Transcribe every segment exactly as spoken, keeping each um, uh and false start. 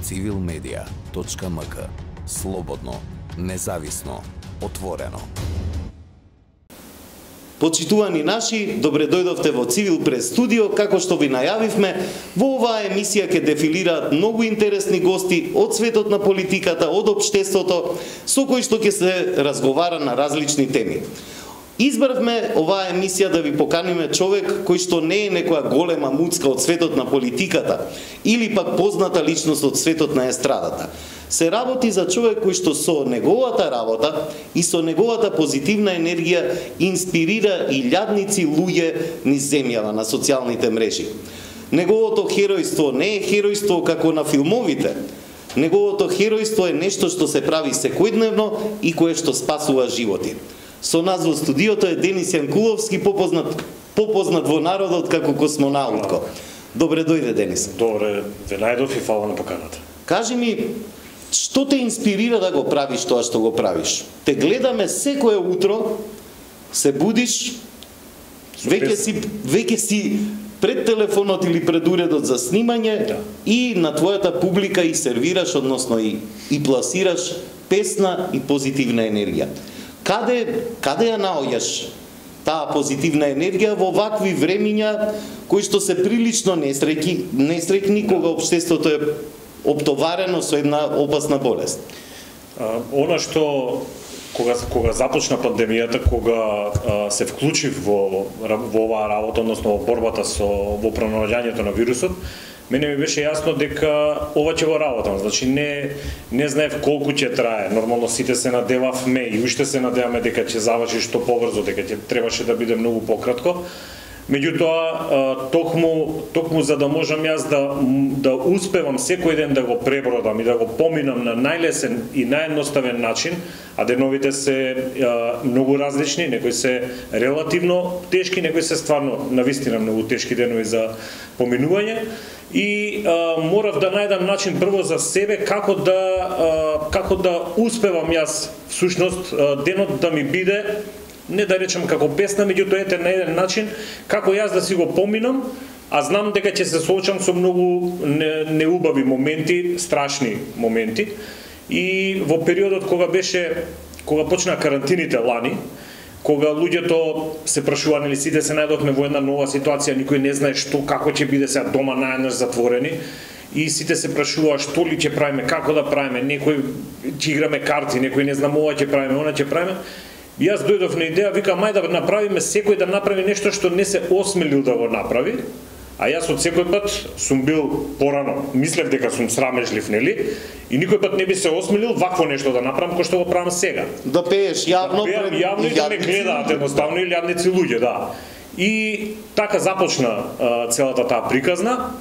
цивил медија точка ем ка. Слободно, независно, отворено. Почитувани наши, добре дојдовте во Цивил прес студио. Како што ви најавивме, во оваа емисија ќе дефилираат многу интересни гости од светот на политиката, од општеството, со кои што ќе се разговара на различни теми. Избравме оваа емисија да ви поканиме човек кој што не е некоја голема муцка од светот на политиката или пак позната личност од светот на естрадата. Се работи за човек кој што со неговата работа и со неговата позитивна енергија инспирира и илјадници луѓе низ земјава на социјалните мрежи. Неговото херојство не е херојство како на филмовите. Неговото херојство е нешто што се прави секојдневно и кое што спасува животи. Со нас во студиото е Денис Јанкуловски, попознат, попознат во народот како космонаутко. Добре дојде, Денис. Добре, ве најдов и фала на поканата. Кажи ми, што те инспирира да го правиш тоа што го правиш? Те гледаме секое утро, се будиш, веќе си, веќе си пред телефонот или пред уредот за снимање, да, и на твојата публика и сервираш, односно и, и пласираш песна и позитивна енергија. Каде, каде ја наоѓаш таа позитивна енергија во вакви времиња кои што се прилично несреќни, несреќни кога општеството е оптоварено со една опасна болест? А, она што кога кога започна пандемијата, кога а, се вклучив во во оваа работа, односно во борбата со во пронаоѓањето на вирусот, мене ми беше јасно дека ова ќе го работам. Значи не не знаев колку ќе трае. Нормално сите се надевавме и уште се надеваме дека ќе заврши што побрзо, дека ќе требаше да биде многу пократко. Меѓутоа, токму, токму за да можам јас да, да успевам секој ден да го пребродам и да го поминам на најлесен и наједноставен начин, а деновите се а, многу различни, некои се релативно тешки, некои се стварно навистина многу тешки денови за поминување, и а, морав да најдам начин прво за себе како да а, како да успевам јас всушност денот да ми биде, не да речем како песна, меѓутоа ете на еден начин како јас да си го поминам, а знам дека ќе се соочам со многу неубави моменти, страшни моменти. И во периодот кога беше кога почна карантините лани, кога луѓето се прашува, нели сите се најдовме во една нова ситуација, никој не знае што како ќе биде сега дома наеднаш затворени, и сите се прашува што ли ќе правиме, како да правиме, некој ќе играме карти, некој не знам ова ќе правиме, она ќе правиме. Јас дојдов на идеја, викам, ајде да направиме, секој да направи нешто што не се осмелил да го направи, а јас од секој пат сум бил порано, мислев дека сум срамежлив, нели? И никој пат не би се осмелил вакво нешто да направам кој што го правам сега. Да пееш јавно, да пеам јавно и да ме гледаат едноставно и илјадници луѓе, да. И така започна а, целата таа приказна,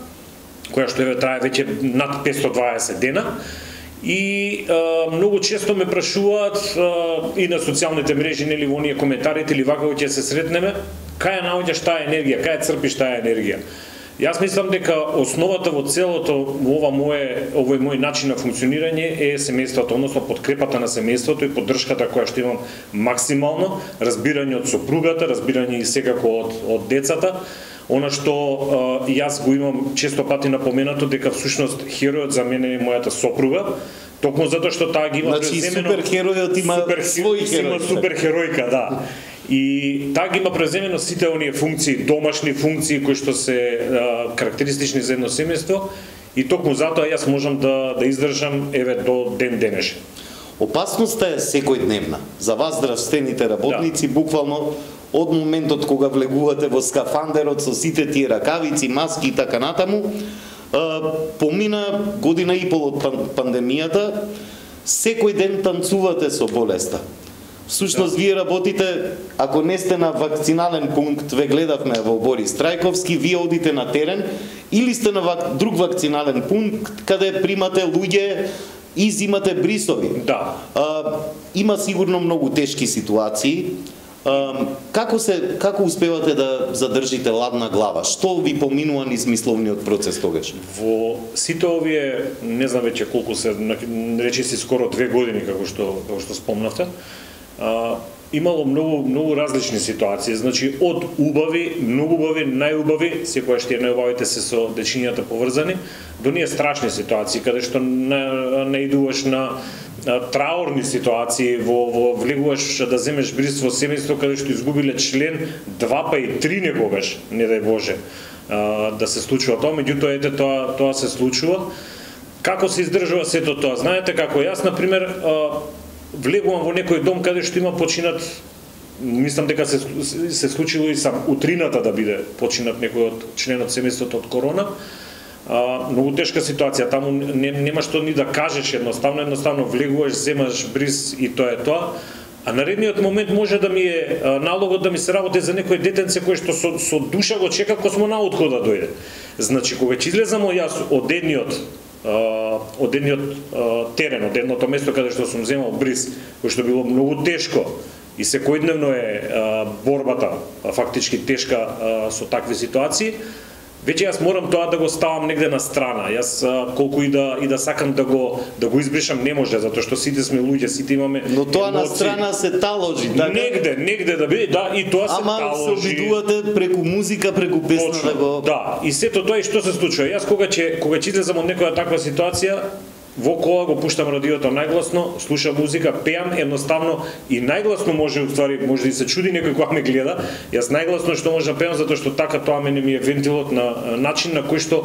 која што еве трае веќе над петстотини и дваесет дена. И а, многу често ме прашуваат а, и на социјалните мрежи, нели во оние коментарите или вака ќе се сретнеме, кај ја наоѓаш таа енергија, кај ја црпиш таа енергија. Јас мислам дека основата во целото во ова мое овој мој начин на функционирање е семејството, односно подкрепата на семејството и поддршката која што имам максимално, разбирање од сопругата, разбирање и секако од од децата. Она што а, јас го имам често пати напоменато дека всушност херојот за мене е мојата сопруга, токму затоа што таа ги има значи, преземено. Значи суперхеројот има супер, свој херој. Има суперхеројка, да. И таа ги има преземено сите оние функции, домашни функции кои што се а, карактеристични за едно семејство, и токму затоа јас можам да да издржам еве до ден денешен. Опасноста е секојдневна. За вас здравствените работници, да, буквално од моментот кога влегувате во скафандерот со сите тие ракавици, маски и така натаму, помина година и пол од пандемијата, секој ден танцувате со болеста. Всушност, да, вие работите, ако не сте на вакцинален пункт, ве гледавме во Борис Трајковски, вие одите на терен, или сте на вак, друг вакцинален пункт, каде примате луѓе и зимате брисови. Да. А, има сигурно многу тешки ситуации. А, како се како успевате да задржите ладна глава? Што ви поминува низ мисловниот процес тогаш? Во сите овие, не знам веќе колку се, речиси скоро две години како што како што спомнавте, а, имало многу многу различни ситуации. Значи од убави, многу убави, најубави, секогаш тие најубавите се со дечињата поврзани, до ние страшни ситуации каде што наидуваш на траурни ситуации, во, во влегуваш да земеш бриз во семејство каде што изгубиле член два па и три некогаш, не дај Боже, да се случува тоа, меѓутоа ете тоа тоа се случува. Како се издржува сето тоа? Знаете како јас на пример влегувам во некој дом каде што има починат, мислам дека се се случило и сам утрината да биде починат некој од членот семејството од корона. А, многу тешка ситуација, таму не, нема што ни да кажеш едноставно, едноставно влегуваш, земаш бриз и тоа е тоа. А наредниот момент може да ми е а, налогот да ми се работи за некој детенце кој што со, со душа го чека космонаутко да дојде. Значи, кога ќе излезам јас од едниот од едниот терен, од едното место каде што сум земал бриз, кој што било многу тешко и секојдневно е борбата фактички тешка со такви ситуации, веќе јас морам тоа да го ставам негде на страна. Јас колку и да и да сакам да го да го избришам не може, затоа што сите сме луѓе, сите имаме. Но тоа емоции. На страна се таложи, така? Негде, негде да биде, да, и тоа се Ама таложи. Ама се обидувате преку музика, преку песна Точно, да го. Да, и сето тоа и што се случува. Јас кога ќе кога ќе излезам од некоја таква ситуација, во кола го пуштам радиото најгласно, слушам музика, пеам едноставно и најгласно може уствари може да се чуди некој кога ме гледа. Јас најгласно што може да пеам затоа што така тоа мене ми е вентилот на начин на кој што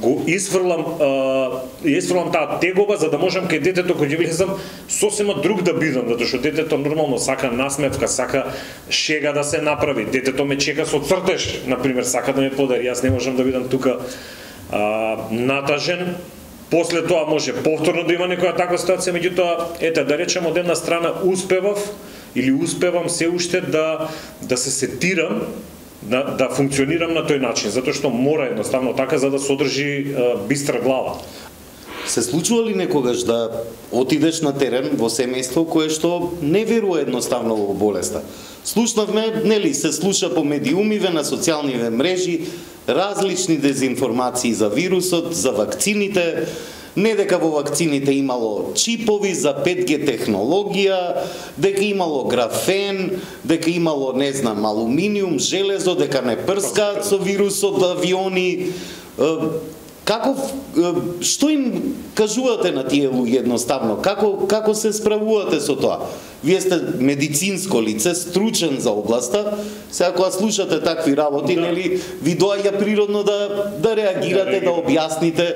го изфрлам е, изфрлам таа тегоба за да можам кај детето кога ќе влезам сосема друг да бидам, затоа што детето нормално сака насмевка, сака шега да се направи. Детето ме чека со цртеж, на пример, сака да ме подари. Јас не можам да бидам тука а, натажен. После тоа може повторно да има некоја таква ситуација, меѓутоа, ете, да речем од една страна успевав или успевам се уште да да се сетирам, да, да функционирам на тој начин, затоа што мора едноставно така за да се одржи е, бистра глава. Се случува ли некогаш да отидеш на терен во семејство кое што не верува едноставно во болеста? Слушнавме, нели, се слуша по медиумиве, на социјалниве мрежи, различни дезинформации за вирусот, за вакцините, не дека во вакцините имало чипови за пет ге технологија, дека имало графен, дека имало, не знам, алуминиум, железо, дека не прскаат со вирусот авиони. Како, што им кажувате на тие луѓе едноставно? Како, како се справувате со тоа? Вие сте медицинско лице, стручен за областа, сега кога слушате такви работи, да. Нели, ви доаѓа природно да, да реагирате, да, да објасните,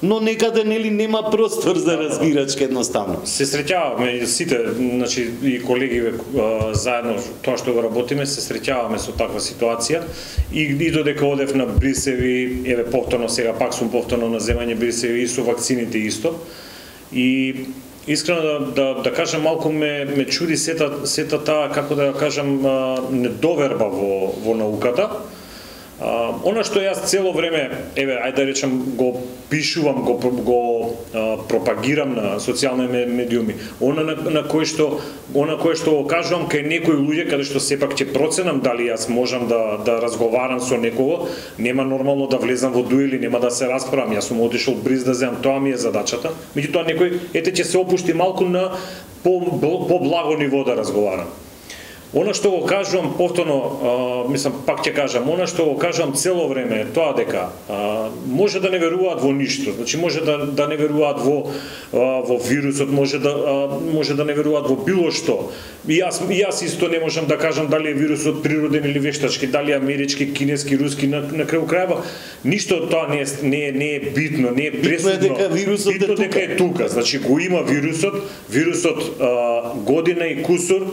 но некаде нели нема простор за разбирачка едноставно. Се среќаваме сите, значи и колеги заедно тоа што го работиме, се среќаваме со таква ситуација и, и додека одев на брисеви, еве повторно сега пак сум повторно на земање брисеви и со вакцините исто. И искрено да, да, да кажам, малку ме, ме чуди сета, сета таа, како да кажам, недоверба во, во науката. А, она што јас цело време, еве, ајде да речем, го пишувам, го, го а, пропагирам на социјални медиуми, она на, на кој што, она кое што го кажувам кај некои луѓе, каде што сепак ќе проценам дали јас можам да, да разговарам со некого, нема нормално да влезам во дуели, нема да се расправам, јас сум отишол бриз да земам, тоа ми е задачата, меѓутоа некој, ете, ќе се опушти малку на по, по благо ниво да разговарам. Она што го кажувам повторно, а, мислам, пак ќе кажам, она што го кажувам цело време е тоа дека а, може да не веруваат во ништо, значи може да, да не веруваат во, а, во вирусот, може да, а, може да не веруваат во било што. И јас, и јас исто не можам да кажам дали е вирусот природен или вештачки, дали е амерички, кинески, руски, на, на крају крајва, ништо тоа не е, не е, не е битно, не е пресудно. Битно е дека вирусот битно е тука. дека е тука, значи го има вирусот, вирусот а, година и кусур,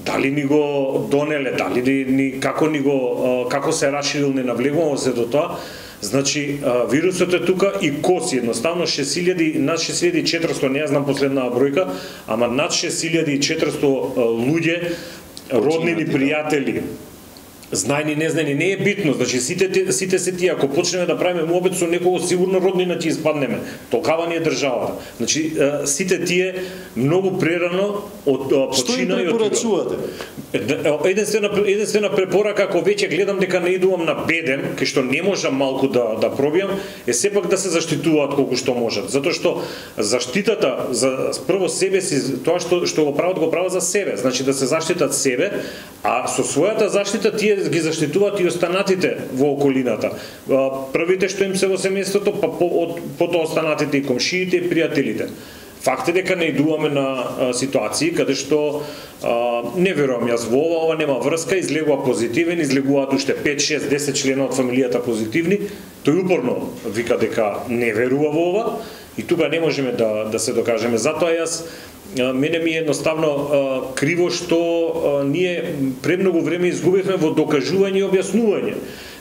дали ни го донеле, дали ни, ни како ни го како се раширил, не навлегуваме се до тоа. Значи вирусот е тука и коси едноставно шест илјади, над шест илјади и четиристо, не ја знам последнава бројка, ама над шест илјади и четиристо луѓе, роднини, пријатели знајни, незнани, не е битно. Значи сите сите се тие, ако почнеме да правиме муабет со некого, сигурно роднина ќе испаднеме. Толкава ни е државата. Значи сите тие многу прерано од почина Што им и од препорачувате? Единствена единствена препорака, ако веќе гледам дека не идувам на беден, кај што не можам малку да да пробијам, е сепак да се заштитуваат колку што можат. Затоа што заштитата за прво себе си, тоа што што го прават, го прават за себе. Значи да се заштитат себе, а со својата заштита тие ги заштитуваат и останатите во околината. Првите што им се во семејството, па по, од, потоа останатите и комшиите и пријателите. Факт е дека наидуваме на а, ситуации каде што а, не верувам јас во ова, ова нема врска, излегува позитивен, излегуваат уште пет, шест, десет члена од фамилијата позитивни, тој упорно вика дека не верува во ова и тука не можеме да да се докажеме. Затоа јас мене ми е едноставно а, криво што а, ние премногу време изгубивме во докажување и објаснување.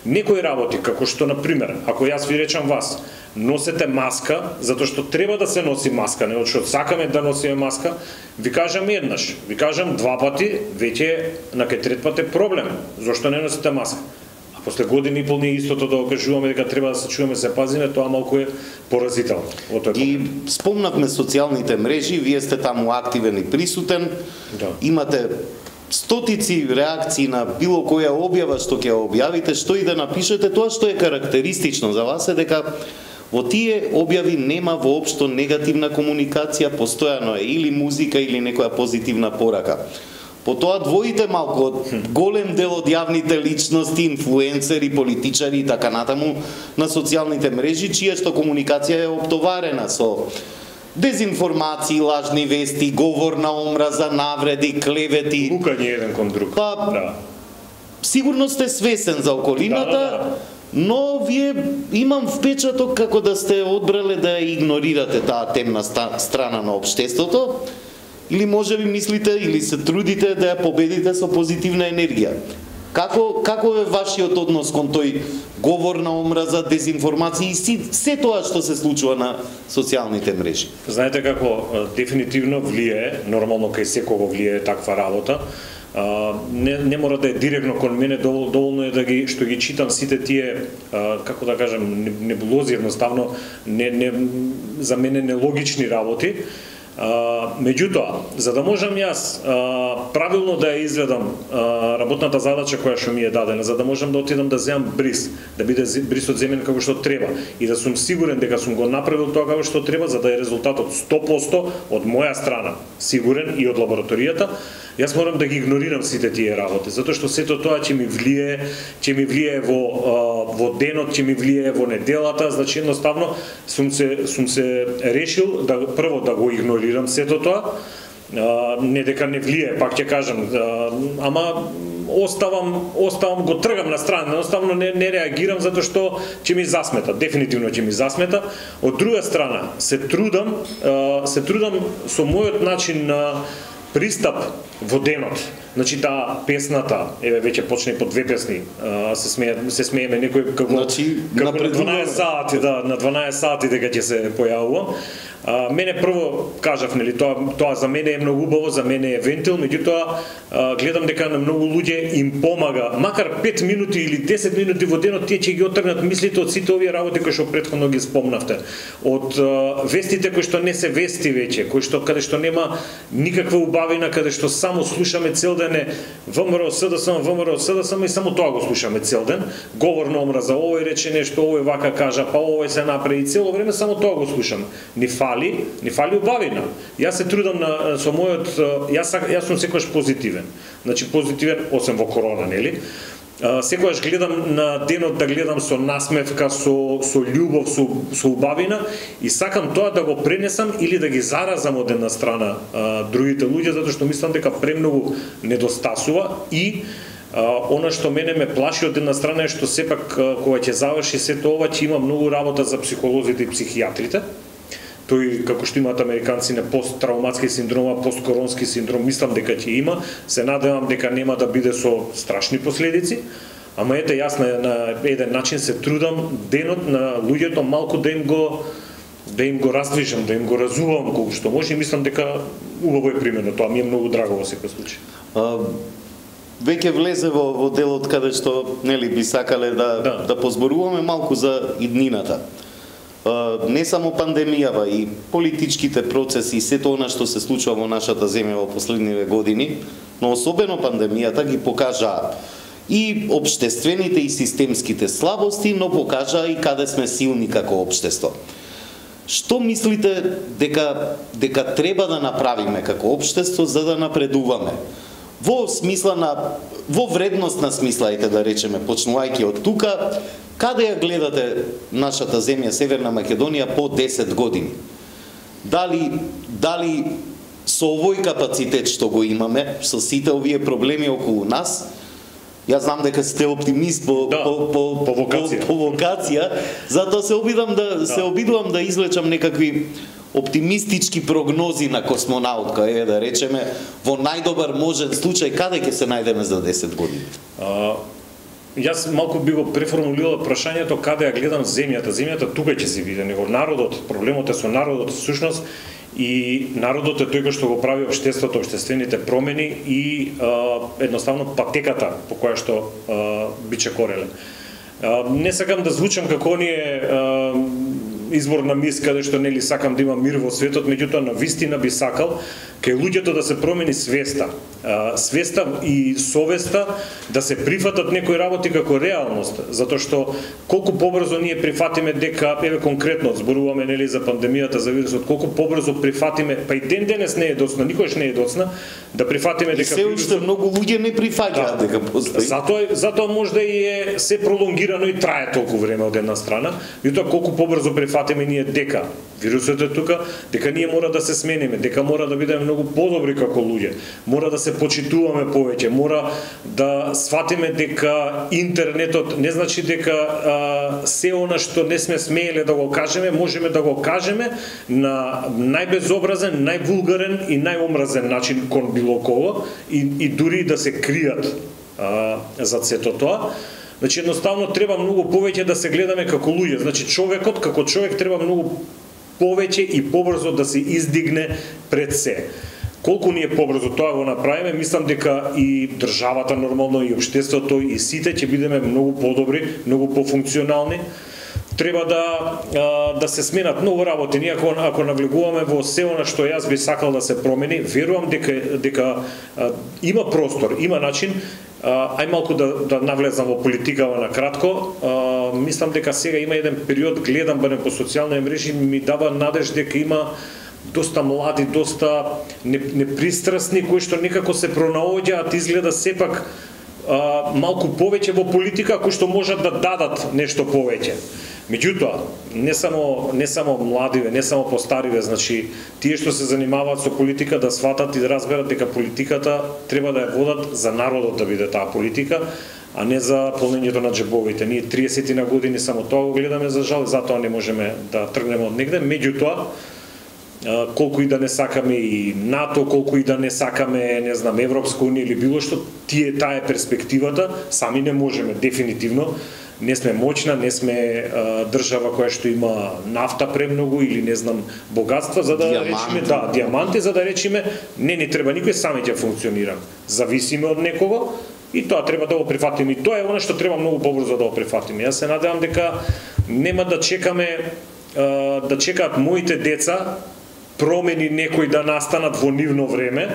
Некои работи, како што, например, ако јас ви речам вас, носете маска, затоа што треба да се носи маска, не од што сакаме да носиме маска, ви кажам еднаш, ви кажам два пати, веќе на кај трет пат е проблем. Зошто не носите маска? А после години и пол ние истото да окажуваме дека треба да се чуваме, се пазиме, тоа малку е поразително. И спомнавме социјалните мрежи, вие сте таму активен и присутен, да. Имате стотици реакции на било која објава што ќе објавите, што и да напишете, тоа што е карактеристично за вас е дека во тие објави нема воопшто негативна комуникација, постојано е или музика или некоја позитивна порака. Потоа двоите малку од голем дел од јавните личности, инфлуенсери, политичари и така натаму на социјалните мрежи, чија што комуникација е оптоварена со дезинформации, лажни вести, говор на омраза, навреди, клевети. Лукање еден кон друг. Па, да. Сигурно сте свесен за околината, да, да, да. но вие имам впечаток како да сте одбрале да игнорирате таа темна страна на општеството, или може би мислите или се трудите да ја победите со позитивна енергија. Како како е вашиот однос кон тој говор на омраза, дезинформација и си, се тоа што се случува на социјалните мрежи? Знаете како дефинитивно влијае, нормално кај секого влијае таква работа. Uh, не, не мора да е директно кон мене, довол, доволно е да ги што ги читам сите тие uh, како да кажам небулози, едноставно не, не, за мене нелогични работи. Uh, меѓутоа, за да можам јас uh, правилно да ја изведам uh, работната задача која што ми е дадена, за да можам да отидам да земам бриз, да биде брисот земен како што треба и да сум сигурен дека сум го направил тоа како што треба, за да е резултатот сто посто од моја страна сигурен и од лабораторијата, јас морам да ги игнорирам сите тие работи, затоа што сето тоа ќе ми влијае, ќе ми влијае во uh, во денот, ќе ми влијае во неделата, значи едноставно сум се сум се решил да прво да го игнорирам сето тоа, uh, не дека не влијае, пак ќе кажам, uh, ама оставам оставам го тргам на страна, едноставно не не реагирам затоа што ќе ми засмета, дефинитивно ќе ми засмета. Од друга страна се трудам, uh, се трудам со мојот начин на пристап во денот. Значи таа песната, еве веќе почне по две песни, а, се смее се смееме некој како значи, како на дванаесет сати, да, на дванаесет сати дека ќе се појавувам. А, мене прво кажав, нели, тоа тоа за мене е многу убаво, за мене е вентил, меѓутоа гледам дека на многу луѓе им помага, макар пет минути или десет минути во денот, тие ќе ги оттргнат мислите од сите овие работи кои што претходно ги спомнавте. Од а, вестите кои што не се вести веќе, кои што каде што нема никаква убавина, каде што само слушаме цел ден е ВМРО СДСМ, ВМРО СДСМ и само тоа го слушаме цел ден. Говор на омраза, овој рече нешто, овој вака кажа, па овој се направи, цело време само тоа го слушаме. Ни фали, ни фали убавина. Јас се трудам на со мојот, јас јас сум секогаш позитивен. Значи позитивен освен во корона, нели? Секогаш гледам на денот да гледам со насмевка, со со љубов, со со убавина и сакам тоа да го пренесам или да ги заразам од една страна а, другите луѓе, затоа што мислам дека премногу недостасува и а, она што мене ме плаши од една страна е што сепак а, кога ќе заврши сето ова ќе има многу работа за психолозите и психијатрите. Тој, како што имаат американци на посттравматски синдром, посткоронски синдром, мислам дека ќе има, се надевам дека нема да биде со страшни последици, ама ете јас на, на еден начин се трудам денот на луѓето малку да им го да им го раздвижам, да им го разувам колку што може и мислам дека убаво е примено, тоа ми е многу драго во секој случај. веќе влезе во, во делот каде што нели би сакале да, да. да позборуваме малку за иднината. Не само пандемијава, и политичките процеси и сето она што се случува во нашата земја во последниве години, но особено пандемијата ги покажа и општествените и системските слабости, но покажа и каде сме силни како општество. Што мислите дека дека треба да направиме како општество за да напредуваме? Во смисла на во вредностна смисла, ајде да речеме, почнувајќи од тука, каде ја гледате нашата земја Северна Македонија по десет години? Дали дали со овој капацитет што го имаме, со сите овие проблеми околу нас, јас знам дека сте оптимист по да, по по по вокација, по, по вокација, затоа се обидам да, да се обидувам да извлечам некакви оптимистички прогнози на космонаутка, е да речеме, во најдобар можен случај каде ќе се најдеме за десет години? А, јас малку би го преформулирал прашањето каде ја гледам земјата. Земјата тука ќе се види, него народот, проблемот е со народот всушност, и народот е тој кој што го прави општеството, општествените промени и а, едноставно патеката по која што а, биче кореле. А, не сакам да звучам како оние а, изборна мис каде што нели сакам да има мир во светот, меѓутоа на вистина би сакал кај луѓето да се промени свеста. А, свеста и совеста да се прифатат некои работи како реалност, затоа што колку побрзо ние прифатиме дека еве конкретно зборуваме нели за пандемијата, за вирусот, колку побрзо прифатиме, па и ден денес не е доцна, никогаш не е доцна да прифатиме дека се уште многу луѓе не прифаќаат да, дека постои. Затоа затоа можда и е се пролонгирано и трае толку време од една страна, меѓутоа колку побрзо прифатиме ние дека вирусот е тука, дека ние мора да се смениме, дека мора да бидеме многу подобри како луѓе, мора да се почитуваме повеќе, мора да сватиме дека интернетот не значи дека а, се она што не сме смееле да го кажеме, можеме да го кажеме на најбезобразен, највулгарен и најомразен начин кон било кого и, и дури да се кријат а, за сето тоа. Значи едноставно треба многу повеќе да се гледаме како луѓе. Значи човекот како човек треба многу повеќе и побрзо да се издигне пред се. Колку ние побрзо тоа го направиме, мислам дека и државата нормално, и општеството, и сите ќе бидеме многу подобри, многу пофункционални. Треба да да се сменат многу работи. Ние ако ако навлегуваме во се она што јас би сакал да се промени, верувам дека дека а, има простор, има начин. Ај малку да, да навлезам во политикава на кратко. А, мислам дека сега има еден период, гледам барем по социјални мрежи, ми дава надеж дека има доста млади, доста непристрасни кои што некако се пронаоѓаат, изгледа сепак а, малку повеќе во политика, кои што можат да дадат нешто повеќе. Меѓутоа, не само не само младиве, не само постариве, значи тие што се занимаваат со политика да сватат и да разберат дека политиката треба да ја водат за народот да биде таа политика, а не за полнењето на џебовите. Ние триесет на години само тоа го гледаме за жал, затоа не можеме да тргнеме од негде. Меѓутоа, колку и да не сакаме и НАТО, колку и да не сакаме, не знам, Европска унија или било што, тие таа е перспективата, сами не можеме дефинитивно. Не сме моćна, не сме а, држава која што има нафта премногу или не знам богатства за да диаманти. речеме, да, диаманти за да речеме, не ни треба никој, сами ќе функционираме. Зависиме од некого и тоа треба да го прифатиме. И тоа е она што треба многу побрзо да го прифатиме. Јас се надевам дека нема да чекаме а, да чекаат моите деца промени некои да настанат во нивно време,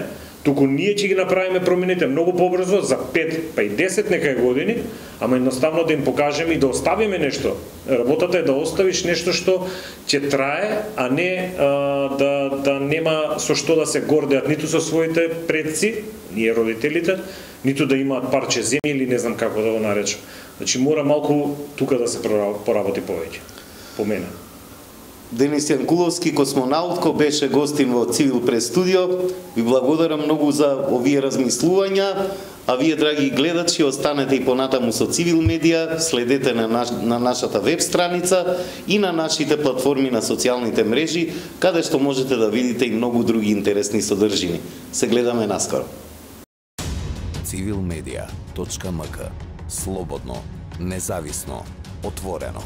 туку ние ќе ги направиме промените многу побрзо за пет, па и десет некај години, ама едноставно да им покажеме и да оставиме нешто. Работата е да оставиш нешто што ќе трае, а не а, да, да нема со што да се гордеат ниту со своите предци, ние родителите, ниту да имаат парче земја или не знам како да го наречам. Значи мора малку тука да се поработи повеќе, по мене. Денис Јанкуловски, космонаутко, беше гостин во Цивил прес студио. Ви благодарам многу за овие размислувања, а вие, драги гледачи, останете и понатаму со Цивил медија, следете на, наш, на нашата веб страница и на нашите платформи на социјалните мрежи, каде што можете да видите и многу други интересни содржини. Се гледаме наскоро. цивил медија точка ем ка. Слободно, независно, отворено.